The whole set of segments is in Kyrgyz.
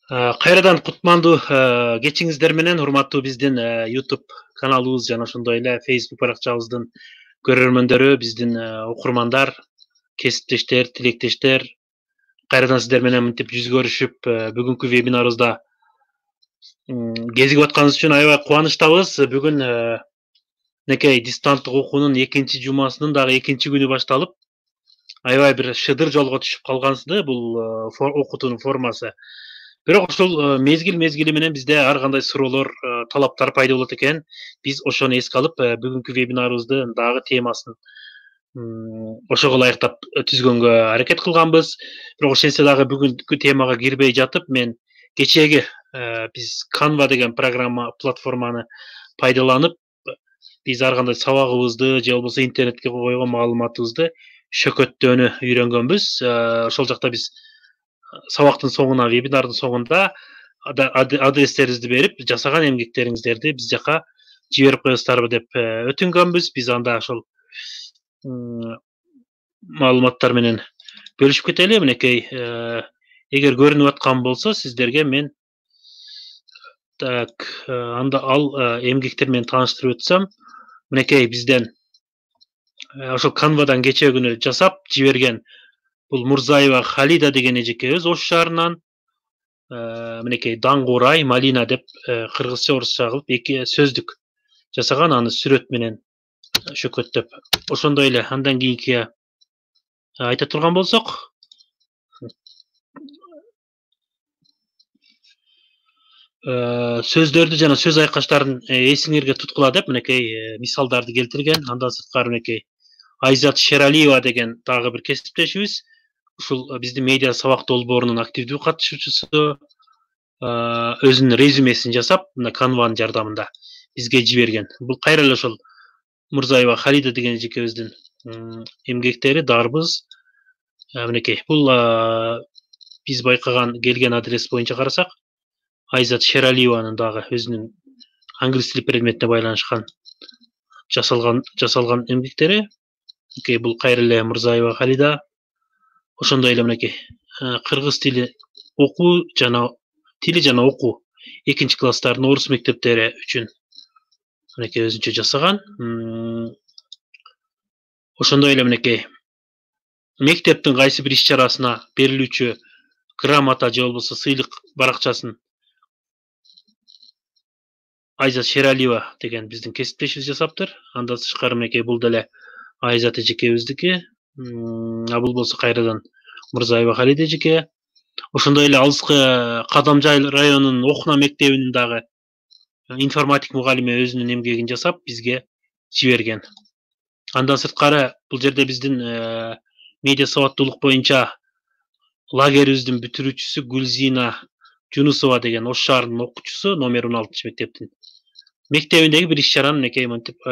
Кайрадан кутмандуу кечиңиздер менен урматтуу биздин YouTube каналыбыз жана ошондой эле Facebook баракчабыздын көрөрмөндөрү, биздин окурмандар, кесиптештер, тилектештер, кайрадан сиздер менен мынтип жүз көрүшүп, бүгүнкү вебинарыбызда кезигип атканыбыз үчүн аябай кубанычтабыз. Бүгүн мынакей дистанттык окуунун экинчи жумасынын дагы экинчи күнү башталып, аябай бир шыдыр жолго түшүп калгансызды бул окутуунун формасы. Бирок ошол мезгили менен бизде ар кандай суроолор, талаптар пайда болот экен. Биз ошону эске алып, бүгүнкү вебинарыбыздын дагы темасын ошого ылайыктап түзгөнгө аракет кылганбыз. Бирок ошентсе дагы бүгүнкү темага кирбей жатып, мен кечээги биз Canva деген платформаны пайдаланып, биз ар кандай сабагыбызды же болбосо интернетке койгон маалыматыбызды шөкөттөөнү үйрөнгөнбүз. Ошол жакта биз сабактын соңуна, вебинардын соңунда адрестерибизди берип, жасаган эмгектериңиздерди биз жака жиберип коесуздарбы деп өтүнгөнбүз. Биз анда ошол маалыматтар менен бөлүшүп кетели. Мынакей эгер көрүнүп аткан болсо сиздерге мен анда ал эмгектер менен тааныштырып өтсөм, мынакей бизден ошол Canva'дан кечээ күнү жасап жиберген бул Мурзаева Халида деген эжекебиз Ош шаарынан мынакей Даңгурай, Малина деп кыргызча, орусча кылып эки сөздүк жасаган, аны сүрөт менен шөкөттөп. Ошондой эле андан кийинки айта турган болсок, сөздөрдү жана сөз айкаштарын эсиңерге туткула деп мынакей мисалдарды келтирген. Андан сырткары мынакей Айзат Шералиева деген дагы бир кесиптешибиз. Ушул биздин медиа сабак долбоорунун активдүү катышуучусу, өзүнүн резюмесин жасап, мына Canva'нын жардамында бизге жиберген. Бул кайра эле ошол Мурзаева Халида деген эжекебиздин эмгектери, дарбыз. Мынакей бул биз байкаган келген адрес боюнча карасак, Айзат Шералиеванын дагы өзүнүн англис тили предметине байланышкан жасалган эмгектери. Мынакей бул кайра эле Мурзаева Халида. Ошондой эле мынакей кыргыз тили окуу жана окуу экинчи класстардын орус мектептери үчүн мынакей өзүнчө жасаган. Ошондой эле мынакей мектептин кайсы бир иш-чарасына берилүүчү грамота же болбосо сыйлык баракчасын Айзат Шералиева деген биздин кесиптешибиз жасаптыр. Андан тышкары мынакей бул деле Айзат эжекебиздики. Бул болсо кайрадан Мурзаева Халида эжеке. Ошондой эле алыскы Кадамжай районунун Окуна мектебинин дагы информатик мугалими өзүнүн эмгегин жасап бизге жиберген. Андан сырткары бул жерде биздин медиа сабаттуулук боюнча лагерибиздин бүтүрүүчүсү Гүлзина Жунусова деген Ош шаарынын окуучусу, номер 16 мектептин мектебиндеги бир иш-чаранын мынакей мынтип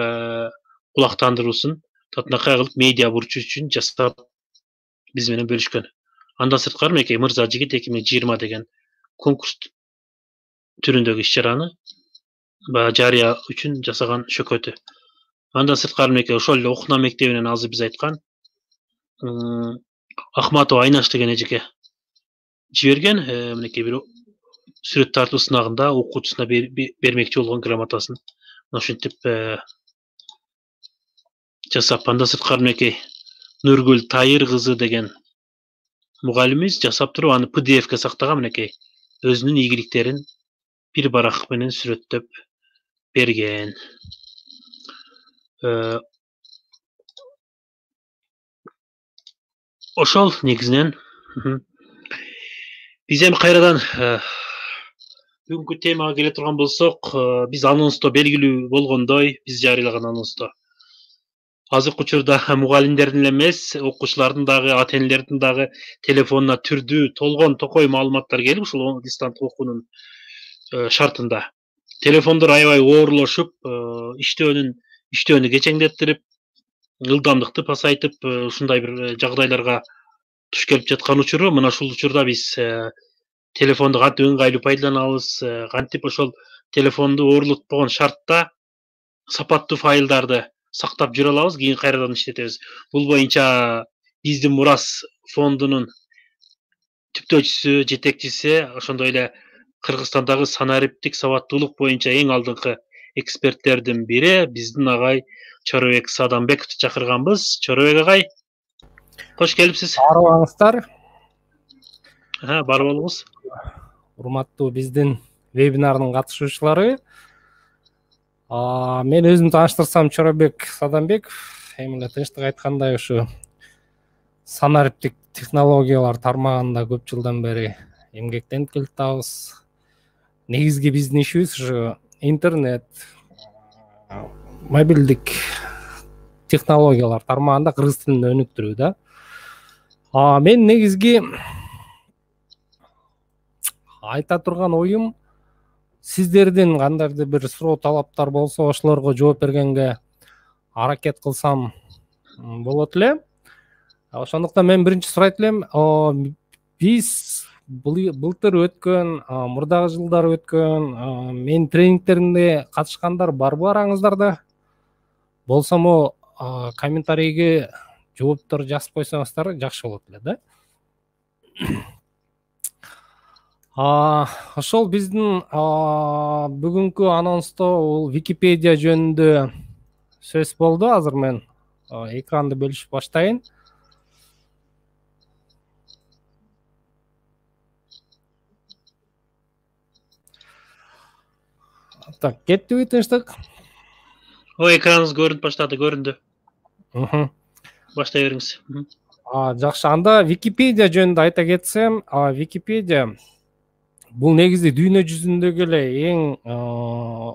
кулактандыруусун татынакай кылып медиа бурчу үчүн жасап биз менен бөлүшкөн. Андан сырткары мынакей Мырза жигит 2020 деген конкурс түрүндөгү иш-чараны жарыя үчүн жасаган шөкөтү. Андан сырткары мынакей ошол эле Окуна мектебинен азыр биз айткан Ахматова Айнаш деген эжеке жиберген. Мынакей бир сүрөт тартуу сынагында окуучусуна бермекчи болгон грамотасын ошентип жасап. Андан сырткары мынакей Нургүл Тайыр кызы деген мугалимибиз жасап туруп аны PDF-ке сактаган, мынакей өзүнүн ийгиликтерин бир барак менен сүрөттөп берген. Ошол негизинен биз эми кайрадан бүгүнкү темага келе турган болсок, биз анонсто белгилүү болгондой, биз жарыялаган анонсто азыркы учурда мугалимдердин эле эмес, окуучулардын дагы, ата энелердин дагы телефонуна түрдүү толгон токой маалыматтар келип, ушул дистанттык окуунун шартында телефондор аябай оорлошуп, иштөөнү кечеңдеттирип, ылдамдыкты пасайтып, ушундай бир жагдайларга туш келип жаткан учуру. Мына ушул учурда биз телефонду кантип ыңгайлуу пайдаланабыз, кантип ошол телефонду оорлотпогон шартта сапаттуу файлдарды сактап жүрө алабыз, кийин кайрадан иштетебиз. Бул боюнча биздин Мурас фондунун иликтөөчүсү, жетекчиси, ошондой эле Кыргызстандагы санариптик сабаттуулук боюнча эң алдыңкы эксперттердин бири биздин агай Чорубек Садамбековду чакырганбыз. Чорубек агай, кош келипсиз. Арыбаңыздар. Бар болуңуз. Урматтуу биздин вебинардын катышуучулары. Мен өзүмдү тааныштырсам, Чорубек Садамбеков. Эми эле тынчтык айткандай ушу санариптик технологиялар тармагында көп жылдан бери эмгектенип келатабыз. Негизги биздин ишибиз ушу интернет, мобилдик технологиялар тармагында кыргыз тилинде өнүктүрүү да. Мен негизги айта турган оюм, сиздердин кандайдыр бир суроо талаптар болсо, ошолорго жооп бергенге аракет кылсам болот эле. Ошондуктан мен биринчи сурайт элем, биз былтыр өткөн, мурдагы жылдары өткөн менин тренингтеримде катышкандар барбы араңыздарда? Болсо комментарийге жооптор жазып койсоңуздар жакшы болот эле да. Ошол биздин бүгүнкү анонсто бул Википедия жөнүндө сөз болду. Азыр мен экранды бөлүшүп баштайын. Так, кеттиби тынчтык? Экраныңыз көрүнүп баштады, көрүндү. Баштай бериңиз. Жакшы, анда Википедия жөнүндө айта кетсем, Википедия бул негизи дүйнө жүзүндөгү эле эң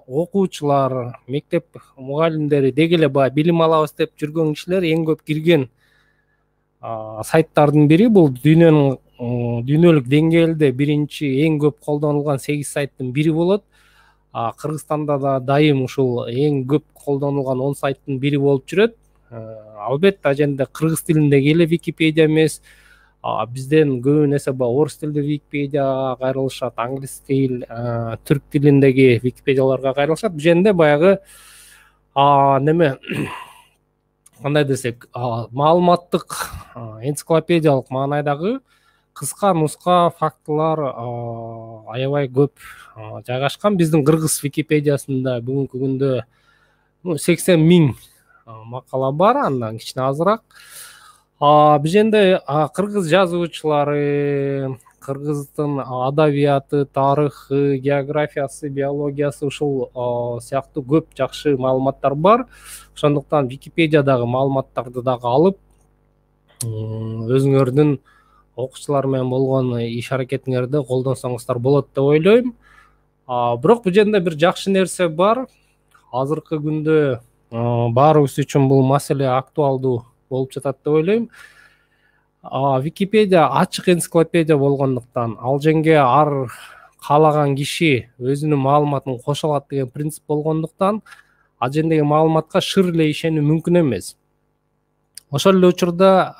окуучулар, мектеп мугалимдери деги эле баягы билим алабыз деп жүргөн кишилер эң көп кирген сайттардын бири. Бул дүйнөлүк деңгээлде биринчи эң көп колдонулган 8 сайттын бири болот. Кыргызстанда да дайым ушул эң көп колдонулган 10 сайттын бири болуп жүрөт. Албетте аженде кыргыз тилиндеги эле Википедия эмес, бизден көбүн эсе орус тилдүү Википедияга кайрылышат, англис тил, түрк тилиндеги Википедияларга кайрылышат. Бул жерде баягы неме кандай десек, маалыматтык энциклопедиялык маанайдагы кыска нуска фактылар аябай көп жайгашкан. Биздин кыргыз Википедиясында бүгүнкү күндө 80 000 макала бар, андан кичине азыраак. Бул жерде кыргыз жазуучулары, кыргыздын адабияты, тарыхы, географиясы, биологиясы ушул сыяктуу көп жакшы маалыматтар бар. Ошондуктан Википедиядагы маалыматтарды дагы алып, өзүңөрдүн окуучулар менен болгон иш аракетиңерди колдонсоңуздар болот деп ойлойм. Бирок бул жерде бир жакшы нерсе бар. Азыркы күндө баарыбыз үчүн бул маселе актуалдуу болуп жатат деп ойлойм. Википедия ачык энциклопедия болгондуктан, ал жерге ар каалаган киши өзүнүн маалыматын кошо алат деген принцип болгондуктан, ал жердеги маалыматка шыр эле ишенүү мүмкүн эмес. Ошол эле учурда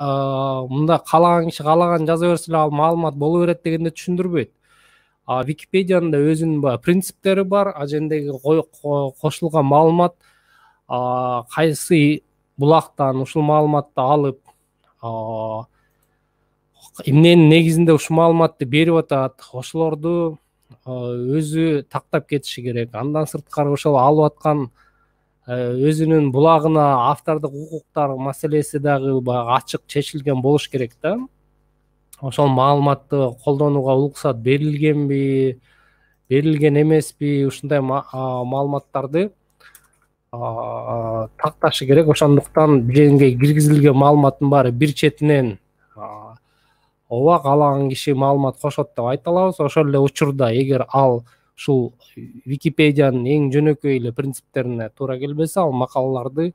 мында каалаган киши каалаган жаза берсе эле ал маалымат боло берет дегенди түшүндүрбөйт. Википедиянын да өзүнүн принциптери бар. Ал жердеги кошулган маалымат кайсы булактан ушул маалыматты алып, эмненин негизинде ушул маалыматты берип атат, ошолорду өзү тактап кетиши керек. Андан сырткары ошол алып аткан өзүнүн булагына автордук укуктар маселеси дагы баягы ачык чечилген болуш керек да. Ошол маалыматты колдонууга уруксат берилгенби, берилген эмеспи, ушундай маалыматтарды такташы керек. Ошондуктан бул жерге киргизилген маалыматтын баары бир четинен ооба каалаган киши маалымат кошот деп айта алабыз. Ошол эле учурда эгер ал ушул Википедиянын эң жөнөкөй эле принциптерине туура келбесе, ал макалаларды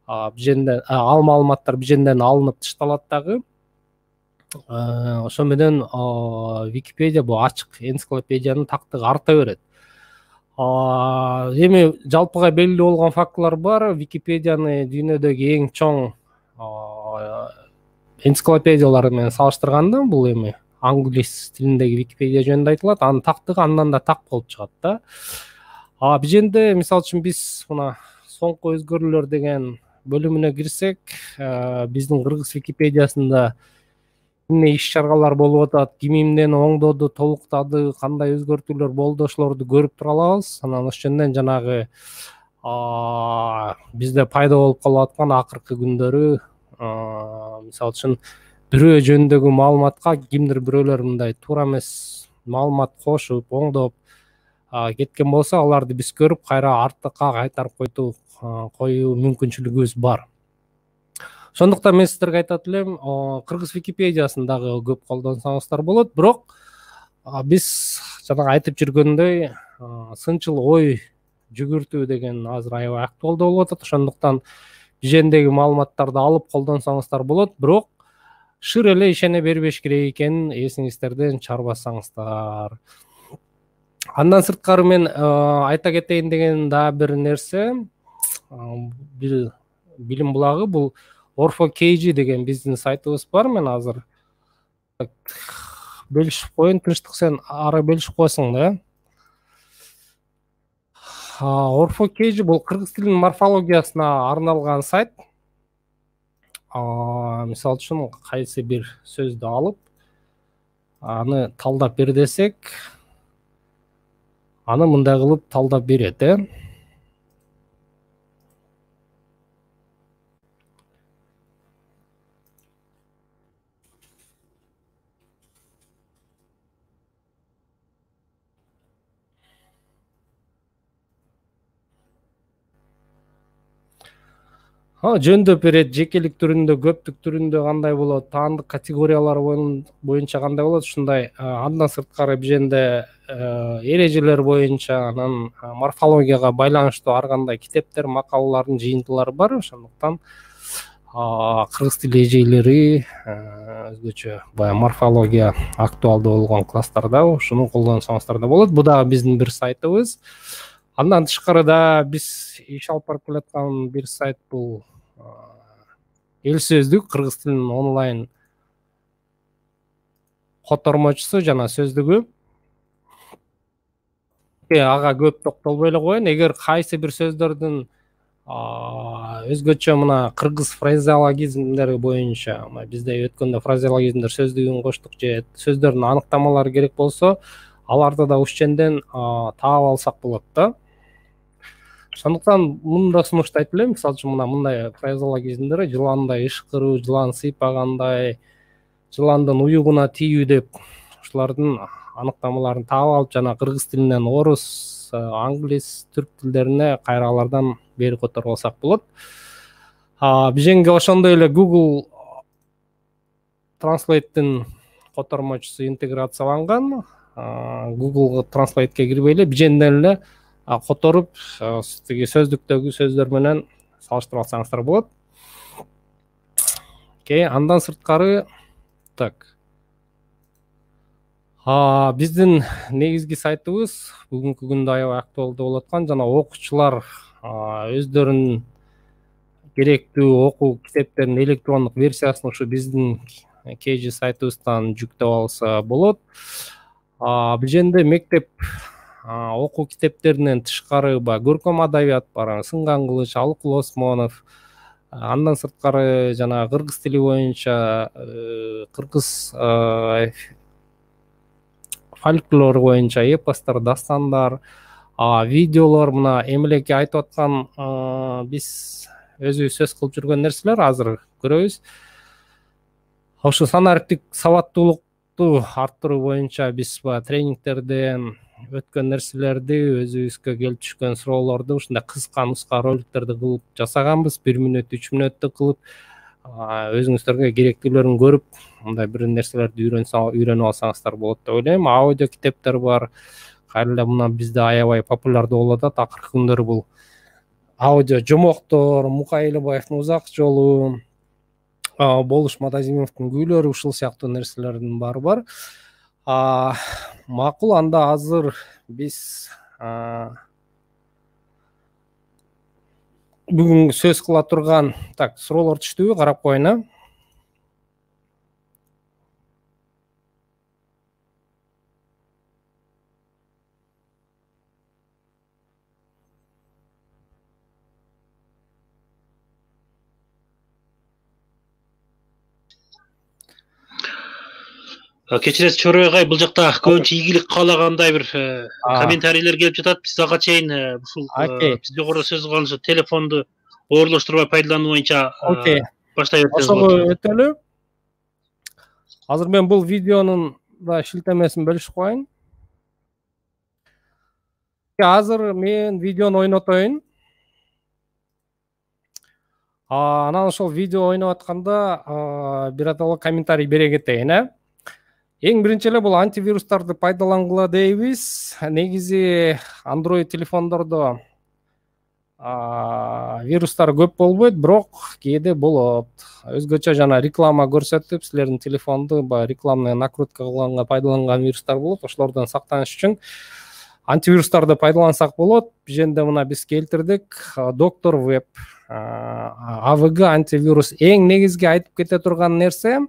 бул жерде ал маалыматтар бул жерден алынып тышталат дагы. Ошо менен Википедия бул ачык энциклопедиянын тактыгы арта берет. Эми жалпыга белгилүү болгон фактылар бар. Википедияны дүйнөдөгү эң чоң энциклопедиялар менен салыштырганда, бул эми англис тилиндеги Википедия жөнүндө айтылат, анын тактыгы андан да так болуп чыгат да. Бул жерде мисалы үчүн биз мына соңку өзгөрүүлөр деген бөлүмүнө кирсек, биздин кыргыз Википедиясында эмне иш чаралар болуп атат, ким эмнени оңдоду, толуктады, кандай өзгөртүүлөр болду, ошолорду көрүп тура алабыз. Анан ошол жөнүндөн жанагы бизде пайда болуп калып аткан акыркы күндөрү мисалы үчүн бирөө жөнүндөгү маалыматка кимдир бирөөлөр мындай туура эмес маалымат кошуп, оңдоп кеткен болсо, аларды биз көрүп кайра артыкка кайтарып коюу мүмкүнчүлүгүбүз бар. Ошондуктан мен сиздерге айтат элем, кыргыз Википедиясын дагы көп колдонсоңуздар болот, бирок биз жанагы айтып жүргөндөй сынчыл ой жүгүртүү деген азыр аябай актуалдуу болуп атат. Ошондуктан бижендеги маалыматтарды алып колдонсоңуздар болот, бирок шыр эле ишене бербеш керек экенин эсиңиздерден чарбасаңыздар. Андан сырткары мен айта кетейин деген дагы бир нерсе, бир билим булагы, бул Orfo.kg деген биздин сайтыбыз бар. Мен азыр белишип коеюн, тынчтык сен ары белишип коесуң да. Orfo.kg бул кыргыз тилинин морфологиясына арналган сайт. Мисалы үчүн кайсы бир сөздү алып, аны талдап бер десек, аны мындай кылып талдап берет, жөндөп берет, жекелик түрүндө, көптүк түрүндө кандай болот, таандык категориялар боюнча кандай болот, ушундай. Андан сырткары биженде эрежелер боюнча, анан морфологияга байланыштуу ар кандай китептер, макалалардын жыйынтыгылары бар. Ошондуктан кыргыз тили эжейлери өзгөчө баягы морфология актуалдуу болгон класстарда ушуну колдонсоңуздар да болот. Бул дагы биздин бир сайтыбыз. Андан тышкары да биз иш алып барып келаткан бир сайт бул Эл сөздүк, кыргыз тилинин онлайн котормочусу жана сөздүгү. Ага көп токтолбой эле коеюн. Эгер кайсы бир сөздөрдүн өзгөчө мына кыргыз фразеологизмдери боюнча, бизде өткөндө фразеологизмдер сөздүгүн коштук же сөздөрдүн аныктамалары керек болсо, аларды да ушул жерден таап алсак болот да. Ошондуктан муну да сунуштайт элем. Мисалы үчүн мындай фразеологизмдер: жыландай ышкыруу, жылан сыйпагандай, жыландын уюгуна тийүү деп ушулардын аныктамаларын таап алып, жана кыргыз тилинен орус, англис, түрк тилдерине кайра алардан бери которуп алсак болот. Биженге ошондой эле Google Translate'дин котормочусу интеграцияланган. Google Translate'ке кирбей эле биженден эле которуп, тиги сөздүктөгү сөздөр менен салыштырып алсаңыздар болот. Андан сырткары биздин негизги сайтыбыз бүгүнкү күндө аябай актуалдуу болуп аткан, жана окуучулар өздөрүнүн керектүү окуу китептеринин электрондук версиясын ушу биздин KG сайтыбыздан жүктөп алса болот. Биженде мектеп окуу китептеринен тышкары көркөм адабият бар, Сынган Кылыч, Алыкул Осмонов. Андан сырткары жана кыргыз тили боюнча кыргыз фольклор боюнча эпостор, дастандар, видеолор, мына эмелеке айтып аткан биз өзүбүз сөз кылып жүргөн нерселер азыр көрөбүз. Ошо санариптик сабаттуулукту арттыруу боюнча биз тренингтерден өткөн нерселерди, өзүбүзгө келип түшкөн суроолорду ушундай кыска нуска роликтерди кылып жасаганбыз. 1 мүнөт, 3 мүнөттү кылып, өзүңүздөргө керектүүлөрүн көрүп, мындай бир нерселерди үйрөнүп алсаңыздар болот деп ойлойм. Аудио китептер бар. Кайра эле мына бизде аябай популярдуу болуп атат акыркы күндөрү бул аудио жомоктор, Мукай Элебаевдин Узак жолу, Болуш Мадазимовдун Күйлөрү, ушул сыяктуу нерселердин баары бар. Макул, анда азыр биз бүгүн сөз кыла турган суроолор түштүбү? Карап коеюн. Кечиресиз Чорой агай, бул жакта көбүнчө ийгилик каалагандай бир комментарийлер келип жатат. Биз ага чейин ушул окей, биз жогоруда сөз кылган ошо телефонду оорлоштурбай пайдалануу боюнча окей. баштай берсеңиз Ошого болот. өтөлү. Азыр мен бул видеонун да шилтемесин бөлүшүп коеюн. Азыр мен видеону ойнотоюн. Анан ошол видео ойноп атканда биротоло комментарий бере кетейин, Эң биринчи эле бул антивирустарды пайдалангыла дейбиз. Негизи Android телефондордо вирустар көп болбойт, бирок кээде болот. Өзгөчө жана реклама көрсөтүп, силердин телефонду рекламный накрутка кылганга пайдаланган вирустар болот. Ошолордон сактаныш үчүн антивирустарды пайдалансак болот. Биженде мына биз келтирдик. Доктор Веб AVG антивирус. Эң негизги айтып кете турган нерсе,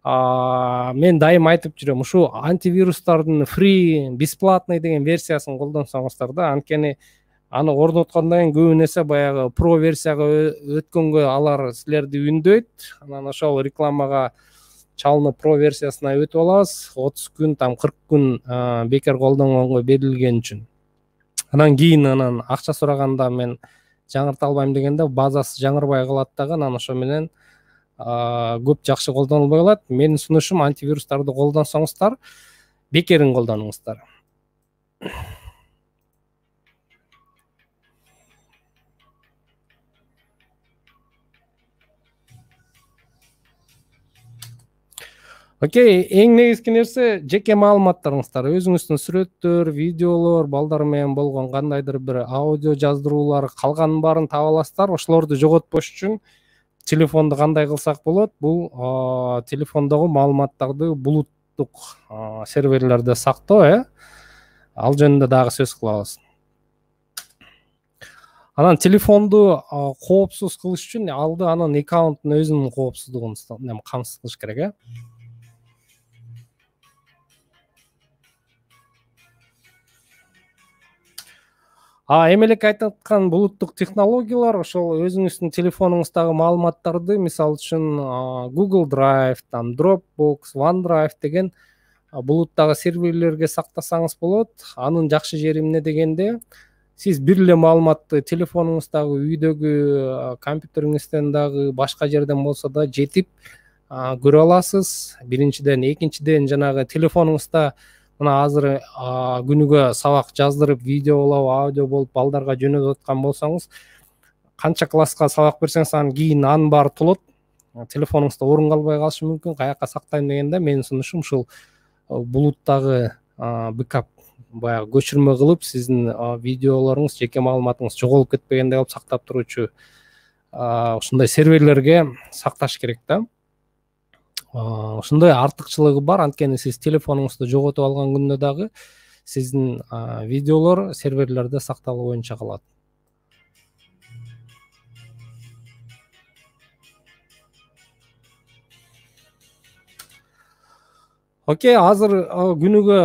мен дайым айтып жүрөм, ушу антивирустардын free, бесплатный деген версиясын колдонсоңуздар да, анткени аны орноткондон кийин көбүн эсе баягы про версияга өткөнгө алар силерди үндөйт. Анан ошол рекламага чалынып про версиясына өтүп алабыз. 30 күн, 40 күн бекер колдонгонго берилген үчүн. Анан кийин акча сураганда мен жаңырта албайм дегенде базасы жаңырбай калат дагы, анан ошо менен көп жакшы колдонулбай калат. Менин сунушум антивирустарды колдонсоңуздар, бекерин колдонуңуздар. Окей, эң негизги нерсе жеке маалыматтарыңыздар, өзүңүздүн сүрөттөр, видеолор, балдар менен болгон кандайдыр бир аудио жаздыруулар, калганын баарын таба аласыздар. Ошолорду жоготпош үчүн телефонду кандай кылсак болот? Бул телефондогу маалыматтарды булуттук серверлерде сактоо, ал жөнүндө дагы сөз кылабыз. Анан телефонду коопсуз кылыш үчүн алды анын аккаунтунун өзүнүн коопсуздугун камсыз кылыш керек, Эмелеке айтып аткан булуттук технологиялар ошол өзүңүздүн телефонуңуздагы маалыматтарды, мисалы үчүн Google Drive, Dropbox, OneDrive деген булуттагы серверлерге сактасаңыз болот. Анын жакшы жери эмне дегенде, сиз бир эле маалыматты телефонуңуздагы, үйдөгү компьютериңизден дагы башка жерден болсо да жетип көрө аласыз. Биринчиден, экинчиден жанагы телефонуңузда мына азыр күнүгө сабак жаздырып, видео болуп, аудио болуп балдарга жөнөтүп аткан болсоңуз, канча класска сабак берсеңиз анан кийин анын баары толот. Телефонуңузда орун калбай калышы мүмкүн. Каяка сактайм дегенде менин сунушум ушул булуттагы бэкап, баягы көчүрмө кылып, сиздин видеолоруңуз, жеке маалыматыңыз жоголуп кетпегендей кылып сактап туручу ушундай серверлерге сакташ керек да. Ушундай артыкчылыгы бар, анткени сиз телефонуңузду жоготуп алган күндө дагы сиздин видеолор серверлерде сакталуу боюнча калат. Окей, азыр күнүгө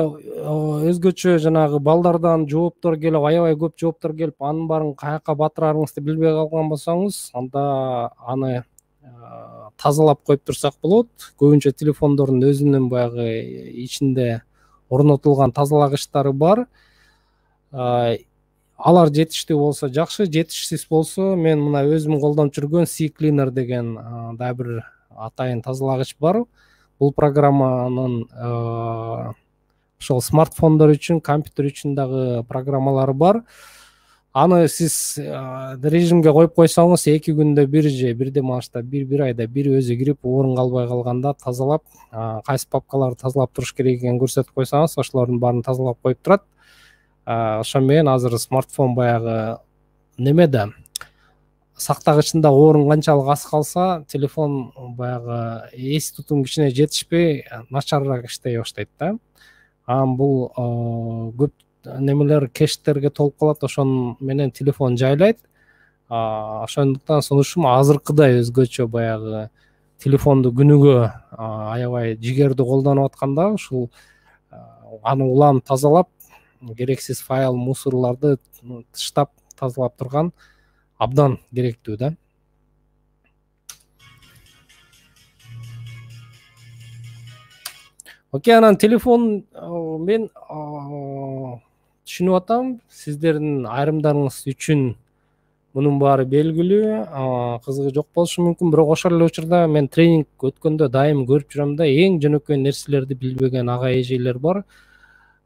өзгөчө жанагы балдардан жооптор келип, аябай көп жооптор келип, анын баарын каяка батырарыңызды билбей калган болсоңуз, анда аны тазалап коюп турсак болот. Көбүнчө телефондордун өзүнүн баягы ичинде орнотулган тазалагычтары бар. Алар жетиштүү болсо жакшы, жетишсиз болсо мен мына өзүм колдонуп жүргөн CCleaner деген дагы бир атайын тазалагыч бар. Бул программанын ошол смартфондор үчүн, компьютер үчүн дагы программалары бар. Аны сиз режимге коюп койсоңуз, 2 күндө бир же бирден машта бир айда бир өзү кирип, орун калбай калганда тазалап, кайсы папкаларды тазалап туруш керек экенин көрсөтүп койсоңуз, ошолордун баарын тазалап коюп турат. Ошо менен азыр смартфон баягы немеде сактагычында орун канчалык аз калса, телефон баягы эс тутум кичине жетишпей, начарыраак иштей баштайт да. Бул көп немелер кештерге толуп калат, ошон менен телефон жайлайт. Ошондуктан сунушум азыркыдай өзгөчө баягы телефонду күнүгө аябай жигердүү колдонуп атканда, ушул аны улам тазалап, керексиз файл, мусорларды тыштап тазалап турган абдан керектүү да. Окей, анан телефон мен түшүнүп атам, сиздердин айрымдарыңыз үчүн мунун баары белгилүү, кызыгы жок болушу мүмкүн, бирок ошол эле учурда мен тренинг өткөндө дайым көрүп жүрөм да, эң жөнөкөй нерселерди билбеген ага эжелер бар.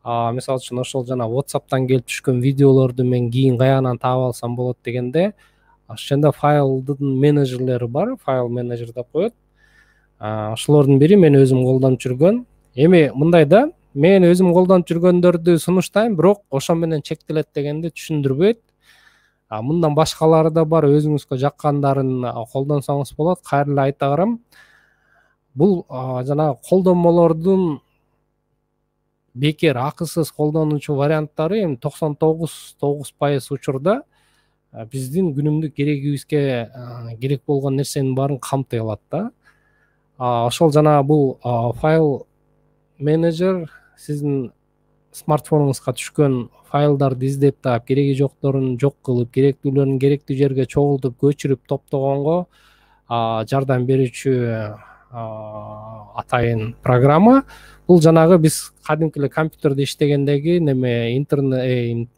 Мисалы үчүн ошол жана WhatsApp'тан келип түшкөн видеолорду мен кийин каягынан таап алсам болот дегенде, ошондо файлдын менеджерлери бар, файл менеджер деп коет. Ошолордун бири мен өзүм колдонуп жүргөн. Эми мындай да, мен өзүм колдонуп жүргөндөрдү сунуштайм, бирок ошо менен чектелет дегенди түшүндүрбөйт. Мындан башкалары да бар, өзүңүзгө жаккандарын колдонсоңуз болот. Кайра эле айта барам. Бул жанагы колдонмолордун бекер акысыз колдонуучу варианттары эми 99% учурда биздин күнүмдүк керегибизге керек болгон нерсенин баарын камтый алат да. Ошол жанагы бул файл менеджер сиздин смартфонуңузга түшкөн файлдарды издеп таап, кереги жокторун жок кылып, керектүүлөрүн керектүү жерге чогултуп, көчүрүп топтогонго жардам берүүчү атайын программа. Бул жанагы биз кадимки эле компьютерде иштегендеги неме интернет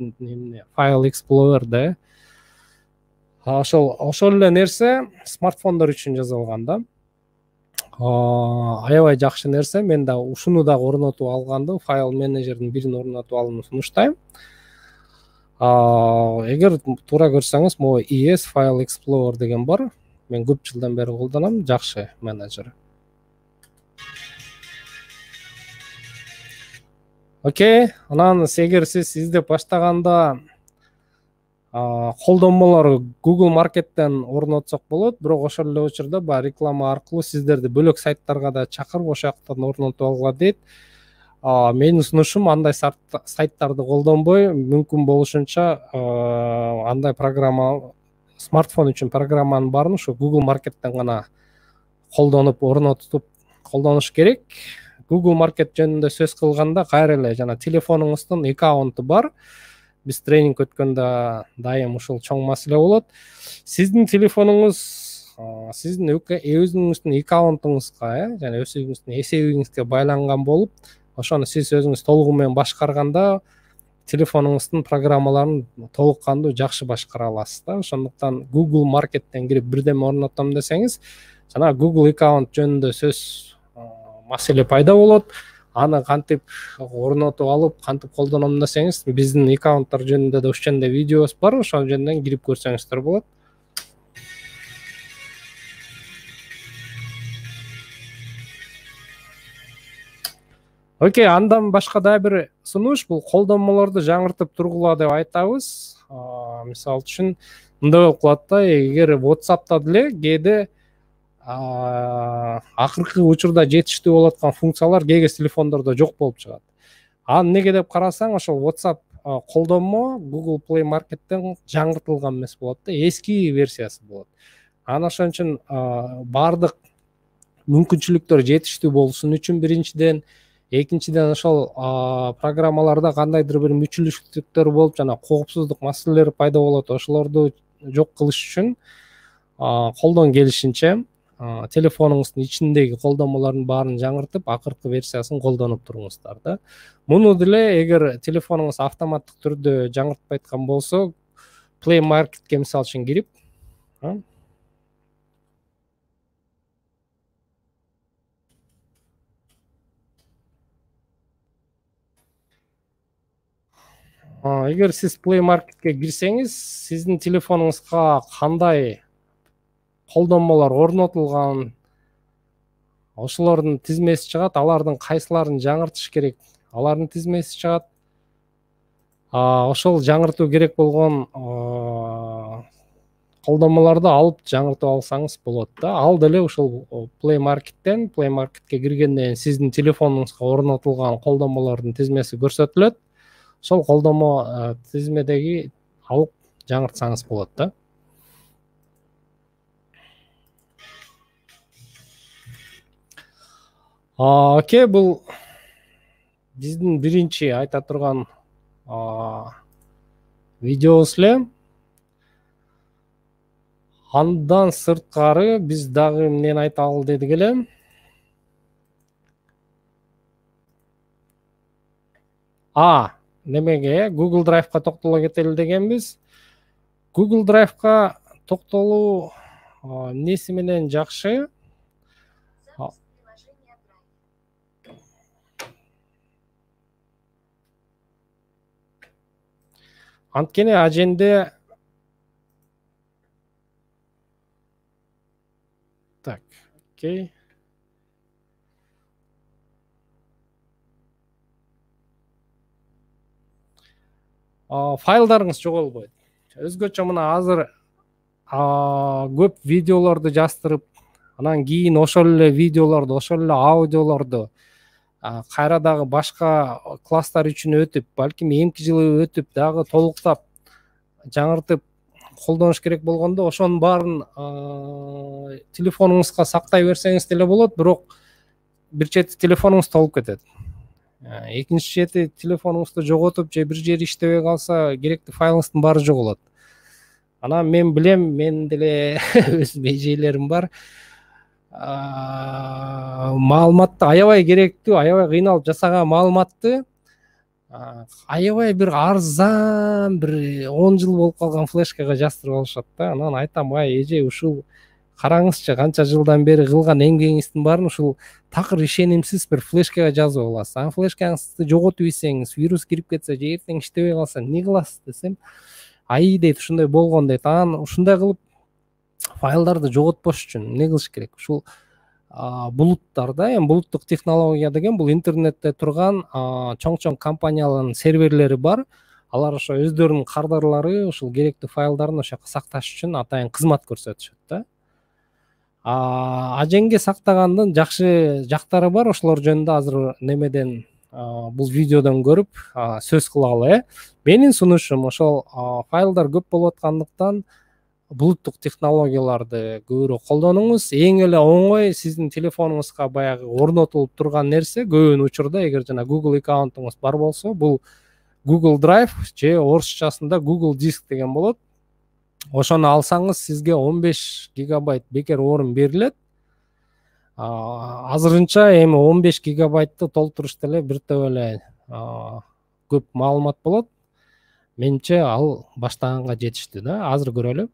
файл эксплорер да. Ошол эле нерсе смартфондор үчүн жасалган да. Аябай жакшы нерсе. Мен да ушуну дагы орнотуп алганды, файл менеджердин бирин орнотуп алууну сунуштайм. Эгер туура көрсөңүз, могу ES File Explorer деген бар. Мен көп жылдан бери колдонам, жакшы менеджер. Окей, анан эгер сиз издеп баштаганда колдонмолор Google Market'тен орнотсок болот, бирок ошол эле учурда баягы реклама аркылуу сиздерди бөлөк сайттарга да чакырып ошол жактан орнотуп алгыла дейт. Менин сунушум андай сайттарды колдонбой, мүмкүн болушунча андай программа, смартфон үчүн программанын баарын ушу Google Market'тен гана колдонуп, орнотуп колдонуш керек. Google Market жөнүндө сөз кылганда кайра эле жана телефонуңуздун аккаунту бар. Биз тренинг өткөндө дайым ушул чоң маселе болот. Сиздин телефонуңуз сиздин өзүңүздүн аккаунтуңузга, жана өзүңүздүн эсебиңизге байланган болуп, ошону сиз өзүңүз толугу менен башкарганда телефонуңуздун программаларын толук кандуу жакшы башкара аласыз да. Ошондуктан Google Market'тен кирип бирдеме орнотом десеңиз, жана Google аккаунт жөнүндө сөз маселе пайда болот. Аны кантип орнотуп алып, кантип колдоном десеңиз, биздин аккаунттар жөнүндө да ошондой видеобуз бар, ошол жөнүндөн кирип көрсөңүздөр болот. Окей, андан башка дагы бир сунуш, бул колдонмолорду жаңыртып тургула деп айтабыз. Мисалы үчүн мындай болуп калат да, эгер WhatsApp'та деле кээде акыркы учурда жетиштүү болуп аткан функциялар кээде телефондордо жок болуп чыгат. Эмнеге деп карасаң, ошол WhatsApp колдонмо Google Play Market'тен жаңыртылган эмес болот да, эски версиясы болот. Анан ошон үчүн баардык мүмкүнчүлүктөр жетиштүү болушун үчүн биринчиден, экинчиден ошол программаларда кандайдыр бир мүчүлүштүктөр болуп, жана коопсуздук маселелери пайда болот. Ошолорду жок кылыш үчүн колдон келишинче телефонуңуздун ичиндеги колдонмолордун баарын жаңыртып, акыркы версиясын колдонуп туруңуздар да. Муну деле эгер телефонуңуз автоматтык түрдө жаңыртпайткан болсо, Play Market'ке мисалы үчүн кирип, эгер сиз Play Market'ке кирсеңиз, сиздин телефонуңузга кандай колдонмолор орнотулган, ошолордун тизмеси чыгат, алардын кайсыларын жаңыртыш керек, алардын тизмеси чыгат. Ошол жаңыртуу керек болгон колдонмолорду алып жаңыртып алсаңыз болот да. Ал деле ушул Play Market'ке киргенден кийин сиздин телефонуңузга орнотулган колдонмолордун тизмеси көрсөтүлөт. Ошол колдонмо тизмедеги алып жаңыртсаңыз болот да. Окей, бул биздин биринчи айта турган видеобуз эле. Андан сырткары биз дагы эмнени айталы дедик эле? Немеге Google Drive'га токтоло кетели дегенбиз. Google Drive'га токтолуу эмнеси менен жакшы? Анткени аженде так, окей. Файлдарыңыз жоголбойт. Өзгөчө мына азыр көп видеолорду жаздырып, анан кийин ошол эле видеолорду, ошол эле аудиолорду кайра дагы башка класстар үчүн өтүп, балким эмки жылы өтүп, дагы толуктап, жаңыртып колдонуш керек болгондо, ошонун баарын телефонуңузга сактай берсеңиз деле болот, бирок бир чети телефонуңуз толуп кетет. Экинчи чети телефонуңузду жоготуп же бир жери иштебей калса, керектүү файлыңыздын баары жоголот. Анан мен билем, мен деле өзүм эжелерим бар. Маалыматты аябай керектүү, аябай кыйналып жасаган маалыматты аябай бир арзан, бир 10 жыл болуп калган флешкага жаздырып алышат да. Анан айтам, эже, ушул караңызчы, канча жылдан бери кылган эмгегиңиздин баарын ушул такыр ишенимсиз бир флешкага жазып аласыз. Анан флешкаңызды жоготуп ийсеңиз, вирус кирип кетсе же эртең иштебей калса эмне кыласыз десем, дейт, ушундай болгон дейт. Анан ушундай кылып файлдарды жоготпош үчүн эмне кылыш керек? Ушул булуттарда, эми булуттук технология деген бул интернетте турган чоң компаниялардын серверлери бар. Алар ошо өздөрүнүн кардарлары ушул керектүү файлдарын ошо жака сакташ үчүн атайын кызмат көрсөтүшөт да. Аженге сактагандын жакшы жактары бар. Ошолор жөнүндө азыр немеден бул видеодон көрүп сөз кылалы. Менин сунушум ошол файлдар көп болуп аткандыктан булуттук технологияларды көбүрөөк колдонуңуз. Эң эле оңой сиздин телефонуңузга баягы орнотулуп турган нерсе, көбүн учурда эгер жана Google аккаунтуңуз бар болсо, бул Google Drive же орусчасында Google Disk деген болот. Ошону алсаңыз, сизге 15 гигабайт бекер орун берилет. Азырынча эми 15 гигабайтты толтурушта эле бир топ эле көп маалымат болот. Менимче ал баштаганга жетиштүү да. Азыр көрөлү.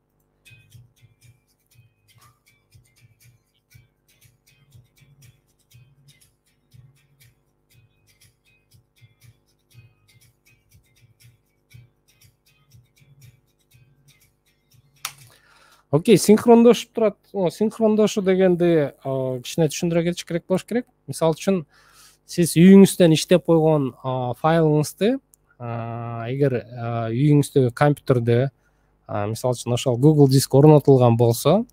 Окей, синхрондошуп турат. Синхрондошуу дегенди кичине түшүндүрө кетиш керек болуш керек. Мисалы үчүн, сиз үйүңүздөн иштеп койгон файлыңызды эгер үйүңүздөгү компьютерде, мисалы үчүн ошол Google Disk орнотулган болсо,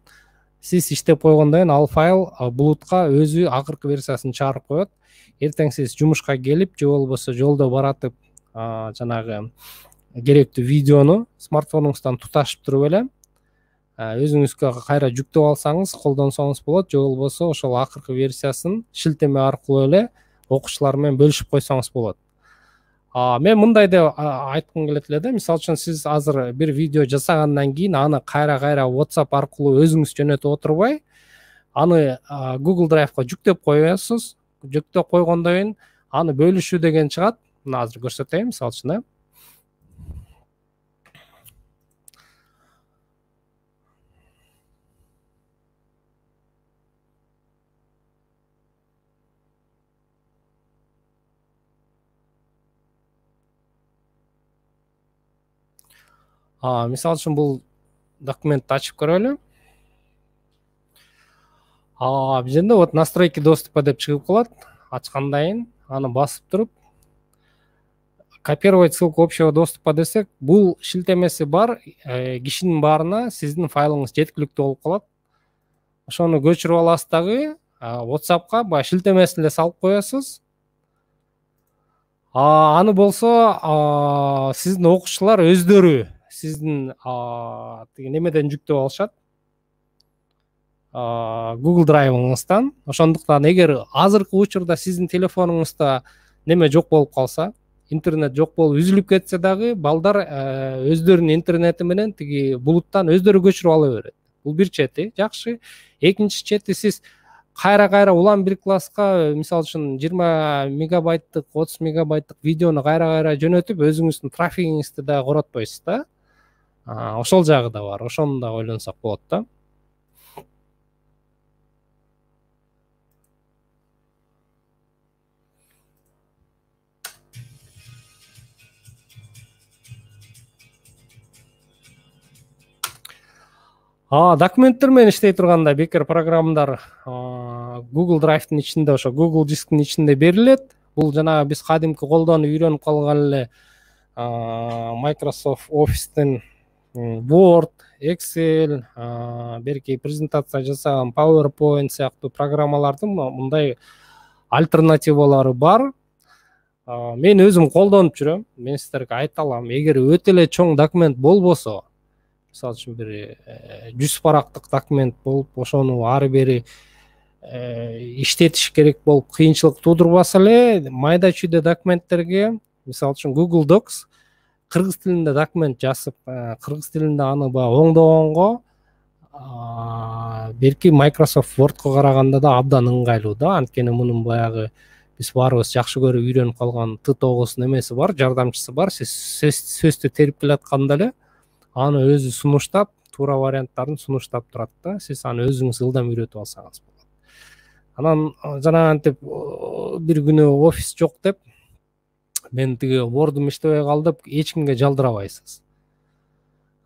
сиз иштеп койгондон кийин ал файл булутка өзү акыркы версиясын чыгарып коет. Эртең сиз жумушка келип, же болбосо жолдо баратып, жанагы керектүү видеону смартфонуңуздан туташып туруп эле өзүңүзгө кайра жүктөп алсаңыз, колдонсоңуз болот, же болбосо ошол акыркы версиясын шилтеме аркылуу эле окуучулар менен бөлүшүп койсоңуз болот. Мен мындай деп айткым келет эле да. Мисалы үчүн, сиз азыр бир видео жасагандан кийин аны кайра WhatsApp аркылуу өзүңүз жөнөтүп отурбай, аны Google Drive'га жүктөп коесуз. Жүктөп койгондон кийин аны бөлүшүү деген чыгат. Мына азыр көрсөтөйүн, мисалы үчүн. Мисалы үчүн бул документти ачып көрөлү. Бул жерде вот настройки доступа деп чыгып калат. Ачкандан кийин аны басып туруп копировать ссылку общего доступа десек, бул шилтемеси бар кишинин баарына сиздин файлыңыз жеткиликтүү болуп калат. Ошону көчүрүп аласыз дагы WhatsApp'ка баягы шилтемесин эле салып коесуз. Аны болсо сиздин окуучулар өздөрү сиздин немеден жүктөп алышат, Google Drive'ыңыздан. Ошондуктан эгер азыркы учурда сиздин телефонуңузда неме жок болуп калса, интернет жок болуп үзүлүп кетсе дагы, балдар өздөрүнүн интернети менен тиги булуттан өздөрү көчүрүп ала берет. Бул бир чети жакшы. Экинчи чети, сиз кайра улам бир класска мисалы үчүн 20 мегабайттык 30 мегабайттык видеону кайра жөнөтүп өзүңүздүн трафигиңизди да коротпойсуз да. Ошол жагы да бар, ошону да ойлонсок болот да. Документтер менен иштей турганда бекер программалар Google Drive'дын ичинде, ошо Google дисктин ичинде берилет. Бул жанагы биз кадимки колдонуп үйрөнүп калган эле Microsoft Office'тин Word, Excel, берки презентация жасаган PowerPoint сыяктуу программалардын мындай альтернативалары бар. Мен өзүм колдонуп жүрөм. Мен сиздерге айта алам, эгер өтө эле чоң документ болбосо, мисалы үчүн бир 100 барактык документ болуп, ошону ары бери иштетиш керек болуп кыйынчылык туудурбаса эле, майда чүйдө документтерге, мисалы үчүн Google Docs кыргыз тилинде документ жазып, кыргыз тилинде аны оңдогонго берки Microsoft Word'ко караганда да абдан ыңгайлуу да. Анткени мунун баягы биз баарыбыз жакшы көрүп үйрөнүп калган T9 немеси бар, жардамчысы бар. Сиз сөздү терип келатканда эле аны өзү сунуштап, туура варианттарын сунуштап турат да. Сиз аны өзүңүз ылдам үйрөтүп алсаңыз болот. Анан жанагынтип бир күнү офис жок деп мен тиги Word'ум иштебей калдып, эч кимге жалдырабайсыз.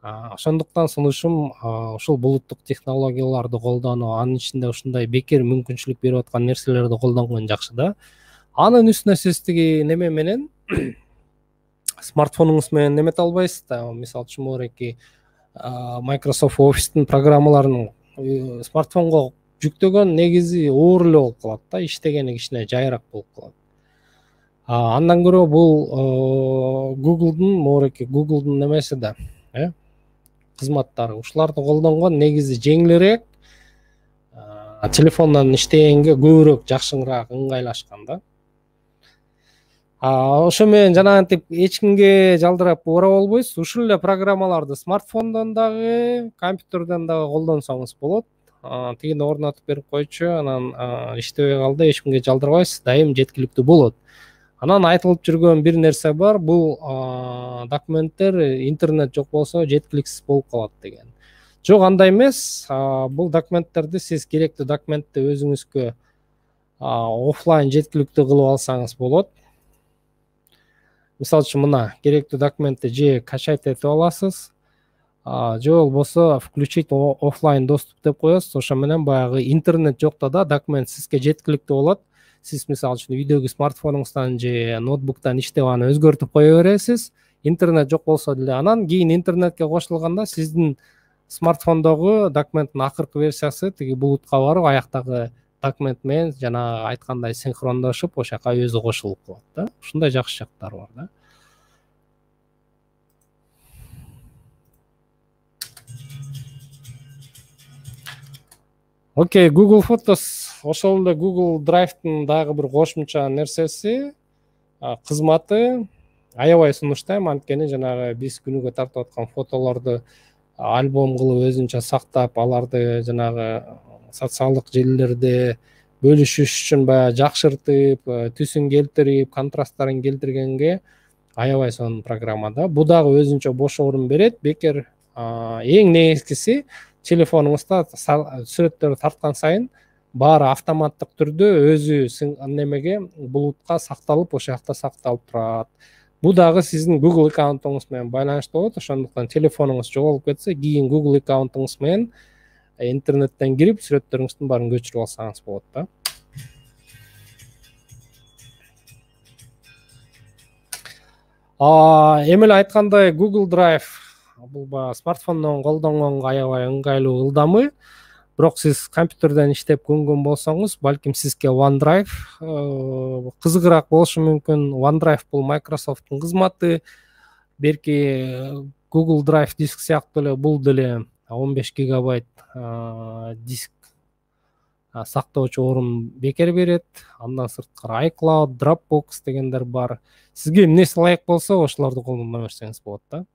Ошондуктан сунушум ушул булуттук технологияларды колдонуу, анын ичинде ушундай бекер мүмкүнчүлүк берип аткан нерселерди колдонгон жакшы да. Анын үстүнө сиз тиги неме менен смартфонуңуз менен немете албайсыз да. Мисалы үчүн мореки Microsoft Office'тин программаларын смартфонго жүктөгөн негизи оор эле болуп калат да, иштегени кичине жайыраак болуп калат. Андан көрө бул Google'дун немеси да, кызматтары. Ушуларды колдонгон негизи жеңилирээк, телефондон иштегенге көбүрөөк жакшыраак ыңгайлашкан да. Ошо менен жанагынтип эч кимге жалдырап ора болбойсуз. Ушул эле программаларды смартфондон дагы, компьютерден дагы колдонсоңуз болот. Тигини орнотуп берип койчу, анан иштебей калды, эч кимге жалдырбайсыз, дайым жеткиликтүү болот. Анан айтылып жүргөн бир нерсе бар, бул документтер интернет жок болсо жеткиликсиз болуп калат деген. Жок, андай эмес. Бул документтерди сиз керектүү документти өзүңүзгө офлайн жеткиликтүү кылып алсаңыз болот. Мисалы үчүн мына керектүү документти же качать этип аласыз, же болбосо включить офлайн доступ деп коесуз. Ошо менен баягы интернет жокто да документ сизге жеткиликтүү болот. Сиз мисалы үчүн үйдөгү смартфонуңуздан же ноутбуктан иштеп аны өзгөртүп кое бересиз. Интернет жок болсо деле анан кийин интернетке кошулганда сиздин смартфондогу документтин акыркы версиясы тиги булутка барып, аяктагы документ менен жана айткандай синхрондошуп, ошол жака өзү кошулуп калат да. Ушундай жакшы жактары бар да. Окей, Google Photos ошол эле Google Drive'дын дагы бир кошумча нерсеси, кызматы. Аябай сунуштайм, анткени жанагы биз күнүгө тартып аткан фотолорду альбом кылып өзүнчө сактап, аларды жанагы социалдык желилерде бөлүшүш үчүн баягы жакшыртып, түсүн келтирип, контрасттарын келтиргенге аябай сонун программа да. Бул дагы өзүнчө бош орун берет. Бекер эң негизгиси телефонуңузда сүрөттөрдү тарткан сайын баары автоматтык түрдө өзү немеге булутка сакталып, ошол жакта сакталып турат. Бул дагы сиздин Google аккаунтуңуз менен байланыштуу болот. Ошондуктан телефонуңуз жоголуп кетсе, кийин Google аккаунтуңуз менен интернеттен кирип, сүрөттөрүңүздүн баарын көчүрүп алсаңыз болот да. Эми эле айткандай Google Drive бул баягы смартфондон колдонгонго аябай ыңгайлуу, ылдамы. Бирок сиз компьютерден иштеп көнгөн болсоңуз, балким сизге OneDrive кызыгыраак болушу мүмкүн. OneDrive бул Microsoft'тун кызматы. Берки Google Drive диск сыяктуу эле бул деле 15 гигабайт диск сактоочу орун бекер берет. Андан сырткары iCloud, Dropbox дегендер бар. Сизге эмнеси ылайык болсо, ошолорду колдоно берсеңиз болот да.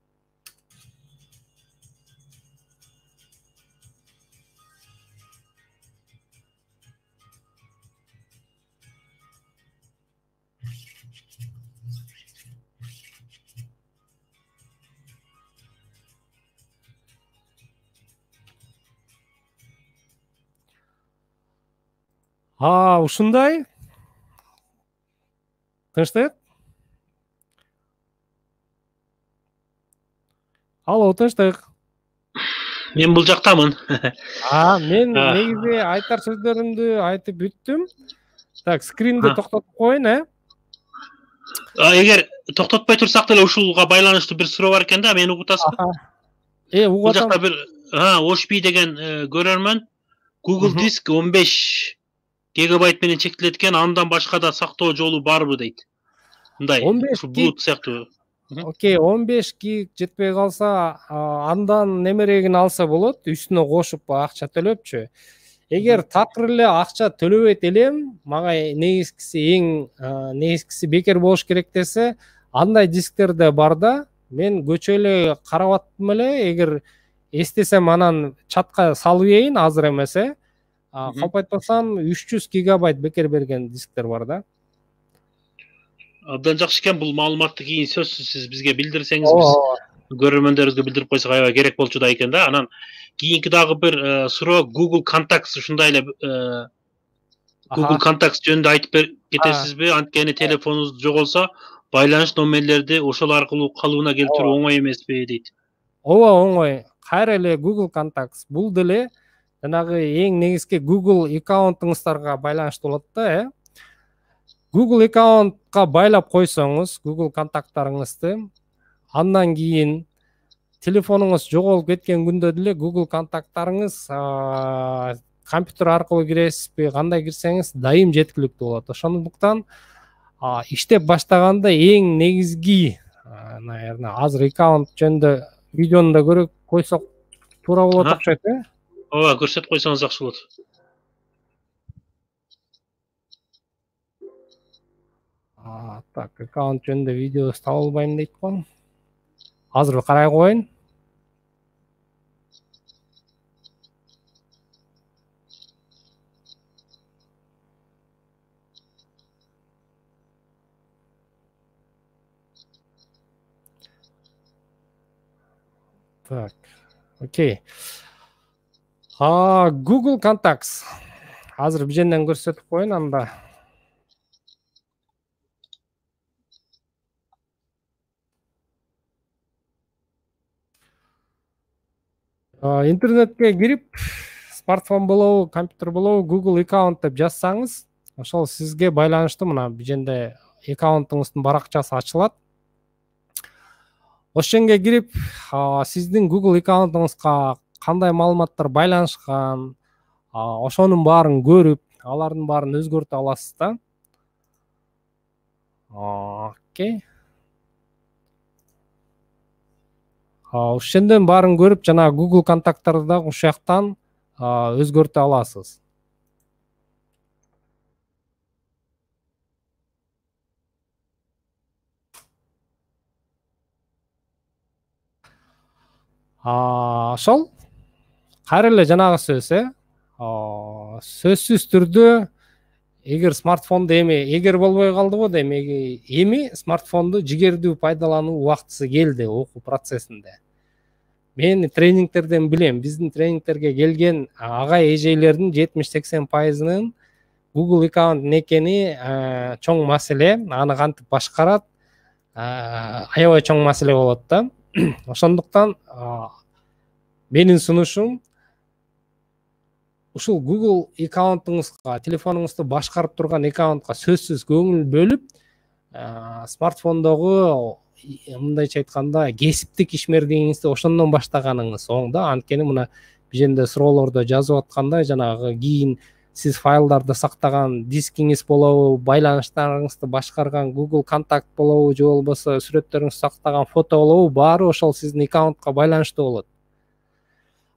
Ушундай. Тынчтык. Алло, тынчтык. Мен бул жактамын. Мен негизи айтар сөздөрүмдү айтып бүттүм. Так, скринди токтотуп коеюн, Эгер токтотпой турсак деле ушулга байланыштуу бир суроо бар экен да, мени угуп атасызбы? Угуп Бул атам. жакта бир Ошби деген көрөрмөн Google Диск 15 гигабайт менен чектелет экен, андан башка да сактоо жолу барбы дейт. Мындай, ушу булут сыяктуу. Окей, 15 гиг жетпей калса, андан немерегин алса болот, үстүнө кошуп акча төлөпчү. Эгер такыр эле акча төлөбөйт элем, мага негизгиси бекер болуш керек десе, андай дисктер да бар да. Мен көчө эле карап аттым эле, эгер эстесем анан чатка салып ийин, азыр эмес, калп айтпасам 300 гигабайт бекер берген дисктер бар да. Абдан жакшы экен, бул маалыматты кийин сөзсүз сиз бизге билдирсеңиз, биз көрөрмөндөрүбүзгө билдирип койсок аябай керек болчу да экен да. Анан кийинки дагы бир суроо Google Contacts ушундай эле Google Contacts жөнүндө айтып кетесизби? Анткени телефонуңуз жоголсо, байланыш номерлерди ошол аркылуу калыбына келтирүү оңой эмеспи дейт. Ооба, оңой. Кайра эле Google Contacts. Бул деле жанагы эң негизги Google аккаунтуңуздарга байланыштуу болот да, Google аккаунтка байлап койсоңуз, Google контакттарыңызды, андан кийин телефонуңуз жоголуп кеткен күндө деле Google контакттарыңыз компьютер аркылуу киресизби, кандай кирсеңиз дайым жеткиликтүү болот. Ошондуктан иштеп баштаганда эң негизги, наверное, азыр аккаунт жөнүндө видеону да көрө койсок туура болот окшойт, Ооба, көрсөтүп койсоңуз жакшы болот. Так, аккаунт жөнүндө видео таба албайм дейт го. Азыр карай коеюн. Так, окей. Google Contacts. Азыр биженден көрсөтүп коеюн анда. Интернетке кирип, смартфон болобу, компьютер болобу, Google аккаунт деп жазсаңыз, ошол сизге байланыштуу мына биженде аккаунтуңуздун баракчасы ачылат. Ошонго кирип, сиздин Google аккаунтуңузга кандай маалыматтар байланышкан, ошонун баарын көрүп, алардын баарын өзгөртө аласыз да. Окей. Ошондон баарын көрүп, жана Google контакттарды да ушул жактан өзгөртө аласыз. Ошол кайра эле жанагы сөз, сөзсүз түрдө эгер смартфонду эгер болбой калдыбы дейм, эми смартфонду жигердүү пайдалануу убактысы келди окуу процессинде. Мен тренингтерден билем, биздин тренингтерге келген агай эжелердин 70-80%-нын Google аккаунт экени чоң маселе, аны кантип башкарат, аябай чоң маселе болот да. Ошондуктан менин сунушум ушул Google аккаунтуңузга, телефонуңузду башкарып турган аккаунтка сөзсүз көңүл бөлүп, смартфондогу мындайча айтканда кесиптик ишмердигиңизди ошондон баштаганыңыз оң да. Анткени мына биженде суроолордо жазып аткандай, жанагы кийин сиз файлдарды сактаган дискиңиз болобу, байланыштарыңызды башкарган Google контакт болобу, же болбосо сүрөттөрүңүздү сактаган фото болобу, баары ошол сиздин аккаунтка байланыштуу болот.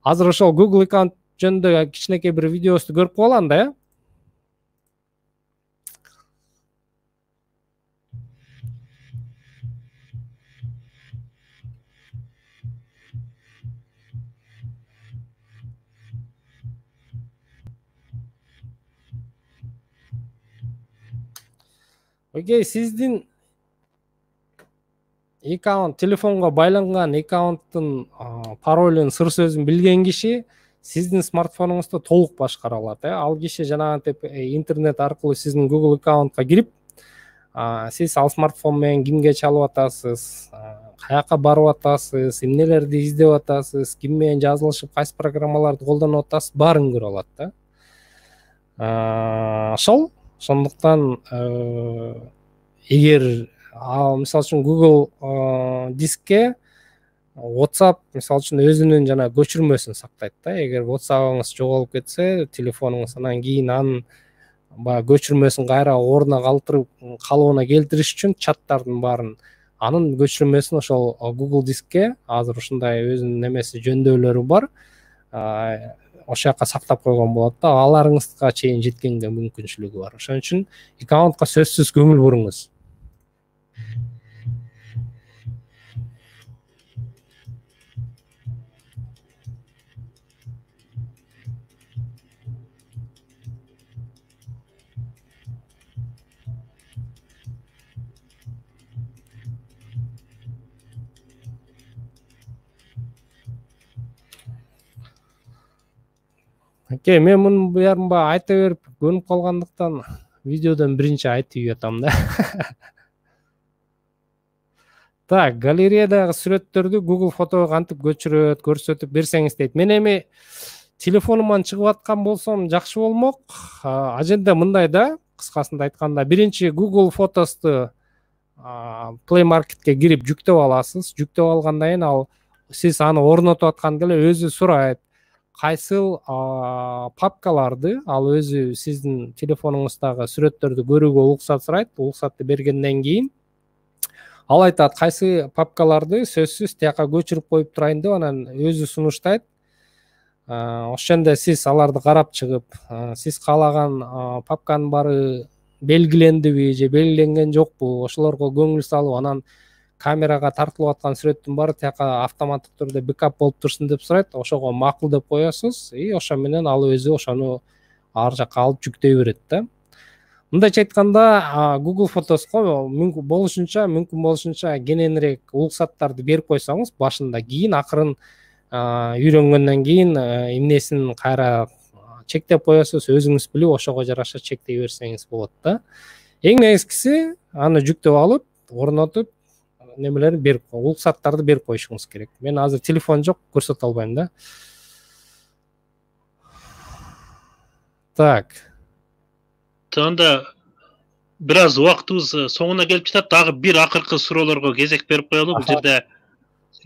Азыр ошол Google аккаунт жөнүндө кичинекей бир видеосу көрүп коелу анда, Окей, сиздин аккаунт, телефонго байланган аккаунттун паролун, сыр сөзүн билген киши сиздин смартфонуңузду толук башкара алат. Ал киши жанагынтип интернет аркылуу сиздин Google аккаунтка кирип, сиз ал смартфон менен кимге чалып атасыз, каяка барып атасыз, эмнелерди издеп атасыз, ким менен жазылышып, кайсы программаларды колдонуп атасыз, баарын көрө алат да. Ошондуктан эгер мисалы үчүн Google дискке WhatsApp мисалы үчүн өзүнүн жана көчүрмөсүн сактайт да. Эгер WhatsApp'ыңыз жоголуп кетсе, телефонуңуз анан кийин анын баягы көчүрмөсүн кайра ордуна калыбына келтириш үчүн чаттардын баарын анын көчүрмөсүн ошол Google дискке азыр ушундай өзүнүн немеси жөндөөлөрү бар. Ошол жака сактап койгон болот да. Аларыңызга чейин жеткенге мүмкүнчүлүгү бар. Ошон үчүн аккаунтка сөзсүз көңүл буруңуз. Мен мунун баарын айта берип көнүп калгандыктан видеодон биринчи айтып жатам да. Так, галереядагы сүрөттөрдү Google фотого кантип көчүрөт, көрсөтүп берсеңиз дейт. Мен эми телефонуман чыгып аткан болсом жакшы болмок. Аженде мындай да, кыскасында айтканда, биринчи Google фотосту Play Marketке кирип жүктөп аласыз. Жүктөп алгандан кийин ал сиз аны орнотуп атканда эле өзү сурайт. Кайсыл папкаларды ал өзү сиздин телефонуңуздагы сүрөттөрдү көрүүгө уруксат сурайт. Уруксатты бергенден кийин ал айтат кайсы папкаларды сөзсүз тияка көчүрүп коюп турайын деп анан өзү сунуштайт. Ошондо сиз аларды карап чыгып, сиз каалаган папканын баары белгилендиби же белгиленген жокпу, ошолорго көңүл салып, анан камерага тартылып аткан сүрөттүн баары тияка автоматтык түрдө бэкап болуп турсун деп сурайт. Ошого макул деп коесуз. Ошо менен ал өзү ошону ар жака алып жүктөй берет да. Мындайча айтканда, Google фотоско мүмкүн болушунча кененирээк уруксаттарды берип койсоңуз башында, кийин акырын үйрөнгөндөн кийин эмнесин кайра чектеп коесуз, өзүңүз билип, ошого жараша чектей берсеңиз болот да. Эң негизгиси аны жүктөп алып, орнотуп, немелерди берип, уруксаттарды берип коюшуңуз керек. Мен азыр телефон жок, көрсөтө албайм да. Так. Анда бир аз убактыбыз соңуна келип жатат. Дагы бир акыркы суроолорго кезек берип коелу. Бул жерде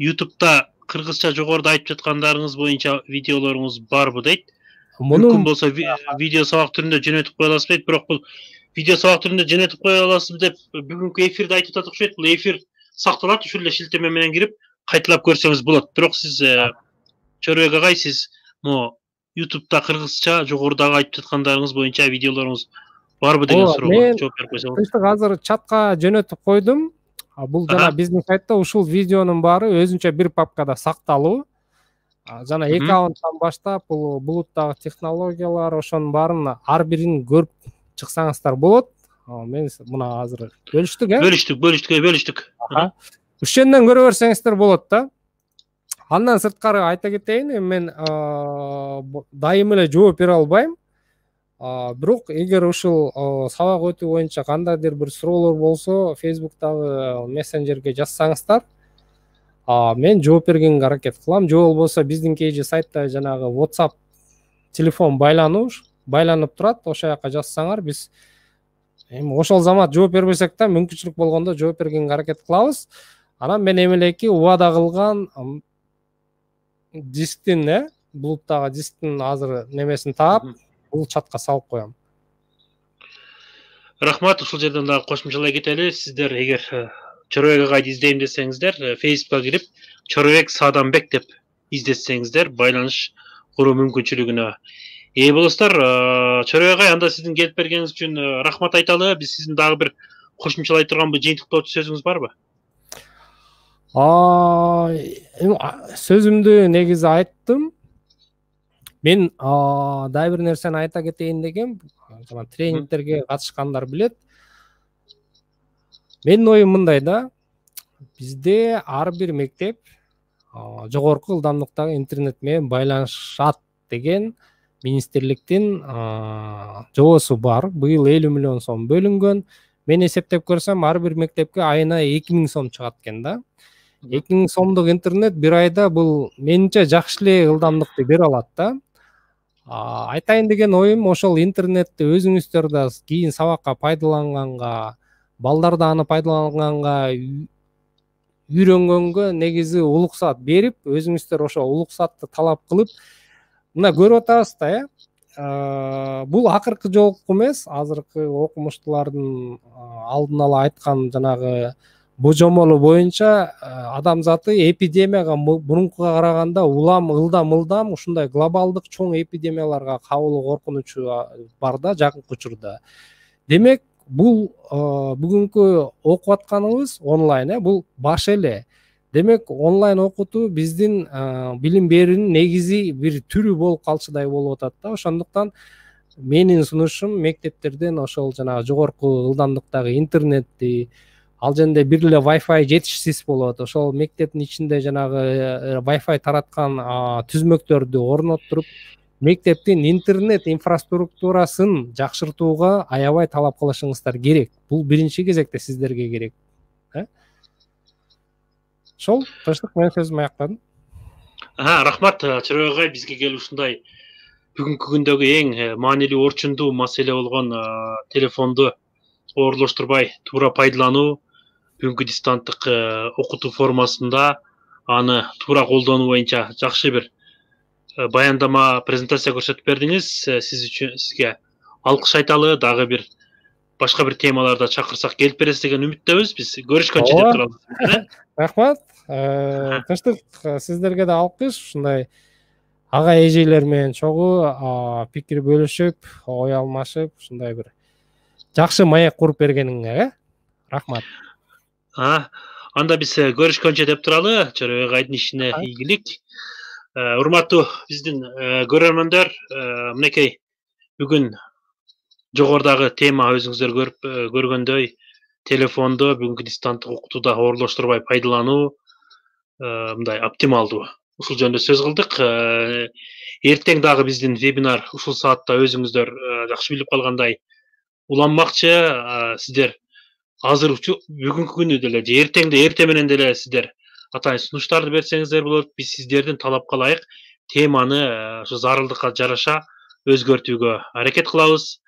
YouTube'да кыргызча жогоруда айтып жаткандарыңыз боюнча видеолоруңуз барбы дейт. Мүмкүн болсо видео сабак түрүндө жөнөтүп кое аласыз дейт. Бирок бул видео сабак түрүндө жөнөтүп кое аласыз деп бүгүнкү эфирде айтып атат окшойт. Бул эфир сакталат, ушул эле шилтеме менен кирип кайталап көрсөңүз болот. Бирок сиз Чорбек агай, сиз могу YouTube'да кыргызча жогорудагы айтып жаткандарыңыз боюнча видеолоруңуз барбы деген суроого жооп берип койсоңуз. Мен азыр чатка жөнөтүп койдум. Бул жана биздин сайтта ушул видеонун баары өзүнчө бир папкада сакталуу. Жана аккаунттан баштап бул булуттагы технологиялар, ошонун баарын ар бирин көрүп чыксаңыздар болот. Мен мына азыр бөлүштүк. Ушунден көрө берсеңиздер болот да. Андан сырткары айта кетейин, мен дайым эле жооп бере албайм. Бирок эгер ушул сабак өтүү боюнча кандайдыр бир суроолор болсо, Facebook'тагы мессенджерге жазсаңыздар, мен жооп бергенге аракет кылам. Же болбосо биздин кейжи сайтта жанагы WhatsApp телефон байланып турат, ошол жака жазсаңар, биз эми ошол замат жооп бербесек да, мүмкүнчүлүк болгондо жооп бергенге аракет кылабыз. Анан мен эмелеки убада кылган дисктин, булуттагы дисктин азыр немесин таап, бул чатка салып коем. Рахмат, ушул жерден дагы кошумчалай кетели. Сиздер эгер Чорбек агайды издейм десеңиздер, Facebook'ка кирип Чорбек Саданбек деп издесеңиздер, байланыш куруу мүмкүнчүлүгүнө ээ болосуздар. Чорбек агай, анда сиздин келип бергениңиз үчүн рахмат айталы. Биз сиздин дагы бир кошумчалай турган бир жыйынтыктоочу сөзүңүз барбы? Сөзүмдү негизи айттым. Мен дагы бир нерсени айта кетейин дегем. Тренингтерге катышкандар билет. Менин оюм мындай да. Бизде ар бир мектеп жогорку ылдамдыктагы интернет менен байланышат деген министрликтин жобосу бар. Быйыл 50 миллион сом бөлүнгөн. Мен эсептеп көрсөм, ар бир мектепке айына 2000 сом чыгат экен да. 2000 сомдук интернет бир айда бул менимче жакшы эле ылдамдыкты бере алат да. Айтайын деген оюм, ошол интернетти өзүңүздөр да кийин сабакка пайдаланганга, балдар да аны пайдаланганга үйрөнгөнгө негизи улуксат берип, өзүңүздөр ошо улуксатты талап кылып, мына көрүп атабыз да, бул акыркы жолку эмес, азыркы окумуштуулардын алдын ала айткан жанагы божомолу боюнча адамзаты эпидемияга мурункуга караганда ылдам ушундай глобалдык чоң эпидемияларга кабылуу коркунучу бар да жакынкы учурда. Демек, бул бүгүнкү окуп атканыбыз онлайн, бул баш эле. Демек, онлайн окутуу биздин билим берүүнүн негизи бир түрү болуп калчудай болуп атат да. Ошондуктан менин сунушум мектептерден ошол жанагы жогорку ылдамдыктагы интернетти, ал жерде бир эле Wi-Fi жетишсиз болот. Ошол мектептин ичинде жанагы Wi-Fi тараткан түзмөктөрдү орноттуруп, мектептин интернет инфраструктурасын жакшыртууга аябай талап кылышыңыздар керек. Бул биринчи кезекте сиздерге керек. Ошол, Тынчтык, мен сөзүмдү аяктадым. Рахмат, Чырой агай, бизге келип ушундай бүгүнкү күндөгү эң маанилүү орчундуу маселе болгон телефонду оорлоштурбай туура пайдалануу, бүгүнкү дистанттык окутуу формасында аны туура колдонуу боюнча жакшы бир баяндама, презентация көрсөтүп бердиңиз. Сизге алкыш айталы. Дагы бир башка бир темаларда чакырсак келип бересиз деген үмүттөбүз. Биз көрүшкөнчө деп турабыз. Рахмат. Тынчтык, сиздерге да алкыш. Ушундай ага эжелер менен чогуу пикир бөлүшүп, ой алмашып, ушундай бир жакшы маек куруп бергениңе, рахмат. Анда биз көрүшкөнчө деп туралы. Чорой агайдын ишине ийгилик. Урматтуу биздин көрөрмөндөр, мынакей бүгүн жогорудагы тема өзүңүздөр көргөндөй телефонду бүгүнкү дистанттык окутууда оорлоштурбай пайдалануу мындай оптималдуу. Ушул жөнүндө сөз кылдык. Эртең дагы биздин вебинар ушул саатта өзүңүздөр жакшы билип калгандай уланмакчы. Сиздер азыр бүгүнкү күнү деле же эртең менен деле сиздер атайын сунуштарды берсеңиздер болот. Биз сиздердин талапка ылайык теманы ошо зарылдыкка жараша өзгөртүүгө аракет кылабыз.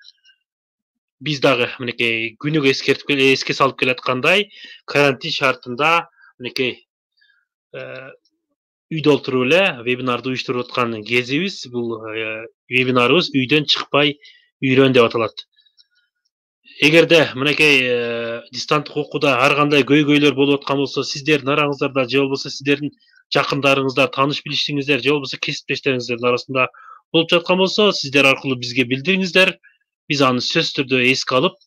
Биз дагы мынакей күнүгө эске салып келаткандай карантин шартында мынакей үйдө отуруп эле вебинарды уюштуруп аткан кезибиз. Бул вебинарыбыз үйдөн чыкпай үйрөн деп аталат. Эгерде мынакей дистанттык окууда ар кандай көйгөйлөр болуп аткан болсо, сиздердин араңыздарда же болбосо сиздердин жакындарыңызда, тааныш билиштиңиздер же болбосо кесиптештериңиздин арасында болуп жаткан болсо, сиздер аркылуу бизге билдириңиздер. Биз аны сөзсүз түрдө эске алып,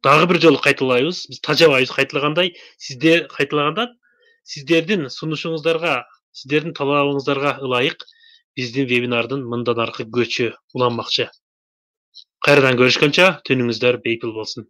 дагы бир жолу кайталайбыз. Биз тажабайбыз кайталагандай. Сиздердин сунушуңуздарга, сиздердин талабыңыздарга ылайык биздин вебинардын мындан аркы көчү уланмакчы. Кайрадан көрүшкөнчө түнүңүздөр бейпил болсун.